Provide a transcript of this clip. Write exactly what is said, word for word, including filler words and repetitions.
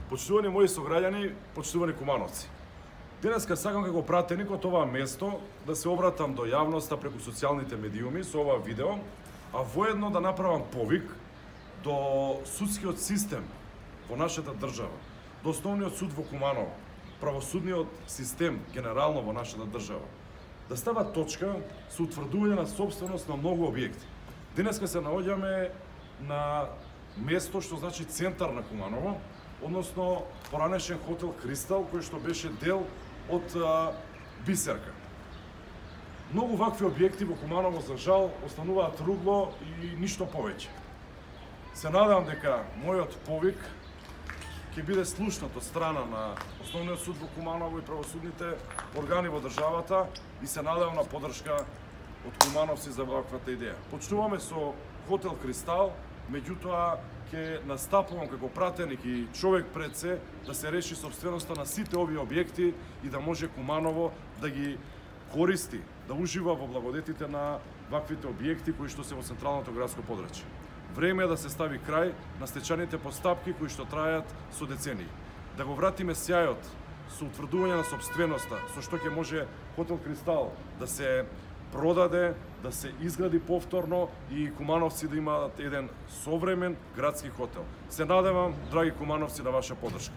Почитувани мои сограѓани, почитувани кумановци. Денеска сакам како пратеник од ова место да се обратам до јавноста преку социјалните медиуми со ова видео, а воедно да направам повик до судскиот систем во нашата држава, до основниот суд во Куманово, правосудниот систем генерално во нашата држава, да става точка со утврдување на собственост на многу објекти. Денеска се наоѓаме на место што значи центар на Куманово, односно поранешен хотел Кристал, кој што беше дел од а, Бисерка. Многу вакви објекти во Куманово, за жал, остануваат ругло и ништо повеќе. Се надевам дека мојот повик ќе биде слушнат од страна на Основниот суд во Куманово и правосудните органи во државата и се надевам на поддршка од кумановци за ваквата идеја. Почнуваме со хотел Кристал, меѓутоа ќе настапувам како пратеник и човек пред се да се реши собственоста на сите овие објекти и да може Куманово да ги користи, да ужива во благодетите на ваквите објекти кои што се во централното градско подрачје. Време е да се стави крај на стечаните постапки кои што трајат со децении. Да го вратиме сјајот со утврдување на собственоста, со што ќе може хотел Кристал да се продаде, да се изгради повторно и кумановци да имаат еден современ градски хотел. Се надевам, драги кумановци, на ваша поддршка.